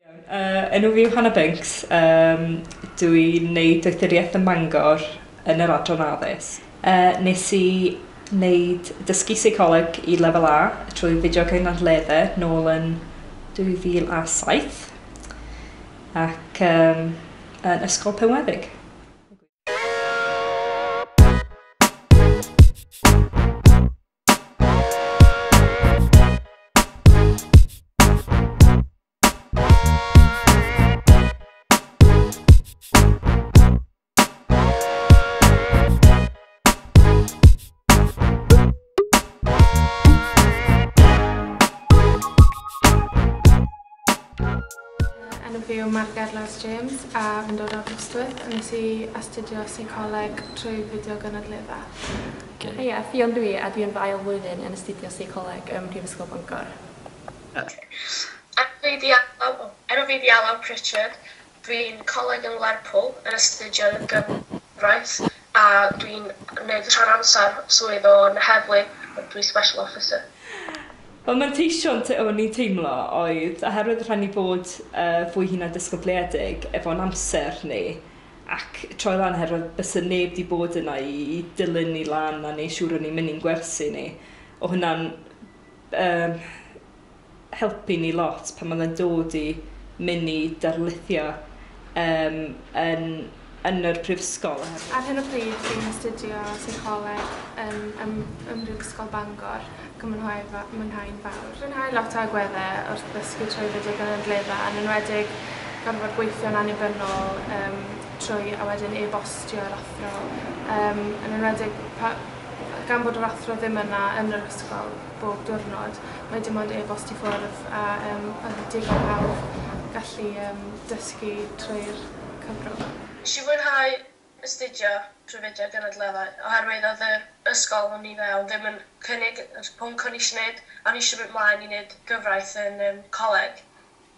Enw fi yw Hannah Binks, dwi'n neud doethuriaeth ym Mangor yn yr adran addysg. Nes i wneud dysgu seicoleg i lefel A trwy fideo cynadleddau nôl yn 2007 ac yn Ysgol Penweddig. Enw fi yw Margaret Lewis James a fi'n dod o Aberystwyth a nes i astudio seicoleg trwy fideo gynadledda. Heia, Ffion dwi a dwi yn fy ail flwyddyn yn astudio seicoleg ym Mhrifysgol Bangor. Enw fi 'di Alaw, enw fi 'di Alaw Pritchard, dwi'n coleg yn Lerpwl yn astudio gyfraith a dwi'n gwneud rhan amser swydd o'n heddlu, dwi'n special officer. Wel, manteision o'n i'n teimlo oedd, oherwydd rhaid ni bod fwy hunan disgybliedig efo'n amser ni, ac troi lan oherwydd bysa neb 'di bod yna i dilyn ni lan a neud siŵr o'n i'n mynd i'n gwersi ni. O hwnna'n helpu ni lot pan oedd e'n dod i mynd i darlithio yn yr prifysgol. Ar hyn o bryd dwi'n astudio seicoleg ym Mhrifysgol Bangor ac yn mwynhau'n fawr. Mwynhau lot o agweddau wrth ddysgu trwy fideo gynadledda, yn enwedig gorfod gweithio'n annibynnol trwy a wedyn e-bostio'r athro. Yn enwedig gan bod yr athro ddim yna yn yr ysgol bob diwrnod, mae dim ond e-bost i ffwrdd a oedd digon hawdd gallu dysgu trwy'r cyfrwng. Nes i fwynhau astudio trwy fideo gynadleddau oherwydd oedd yr ysgol o'n i fewn ddim yn cynnig y pwnc o'n i eisiau gwneud, a o'n i eisiau mynd mlaen i wneud gyfraith yn coleg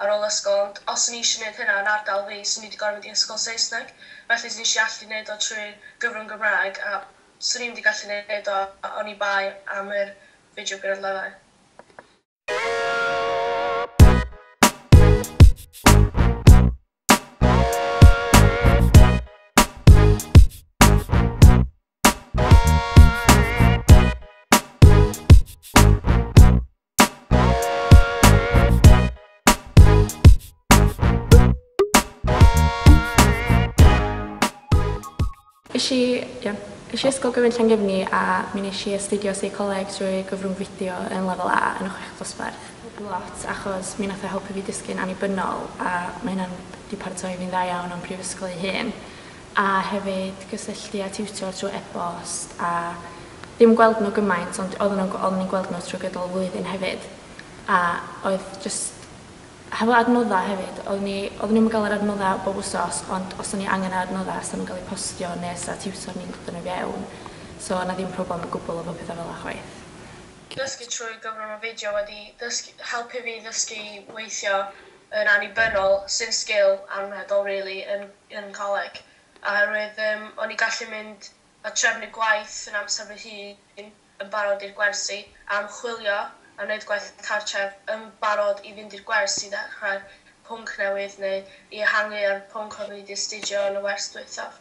ar ôl ysgol, ond os o'n i eisiau gwneud hynna yn ardal fi, 'swn i wedi gorfod mynd i ysgol Saesneg, felly nes i allu gwneud o trwy gyfrwng Gymraeg a 'swn i'm wedi gallu gwneud o oni bai am yr fideo gynadleddau. Es i Ysgol Gyfun Llangefni a mi nes i astudio seicoleg trwy gyfrwng fideo yn lefel A yn y chweched dosbarth. Lot, achos mi nath o helpu fi dysgu'n annibynnol a mae hynna'n 'di paratoi fi'n dda iawn am prifysgol ei hun. A hefyd gysylltu â tiwtor trwy e-bost a ddim gweld nhw gymaint, ond oedden ni'n gweld nhw trwy gydol y flwyddyn hefyd. A oedd jyst hefo adnoddau hefyd, oedden ni'm yn gael yr adnoddau bob wsos, ond os o'n i angen yr adnoddau, 'sa nhw'n cael eu postio neu 'sa tiwtor ni'n dod â nhw fewn. So o'na ddim problem o gwbl efo pethau fel 'na chwaith. Dysgu trwy gyfrwng y fideo wedi helpu fi ddysgu weithio yn annibynnol, sy'n sgil anrhydol really yn coleg. Oherwydd o'n i'n gallu mynd a trefnu gwaith yn amser fy hun yn barod i'r gwersi, a ymchwilio a wneud gwaith cartref yn barod i fynd i'r gwers i ddechrau pwnc newydd neu i ehangu ar pwnc o'n i wedi astudio yn y wers dwythaf.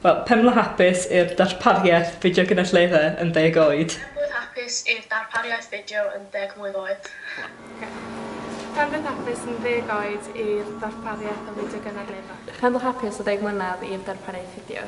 Wel, penblwydd hapus i'r darpariaeth fideo gynadledda yn 10 oed. Penblwydd hapus i'r darpariaeth fideo yn 10 mlwydd oed. Penblwydd hapus yn 10 oed i'r darpariaeth o fideo gynadledda. Penblwydd hapus o 10 mlynedd i'r darpariaeth fideo.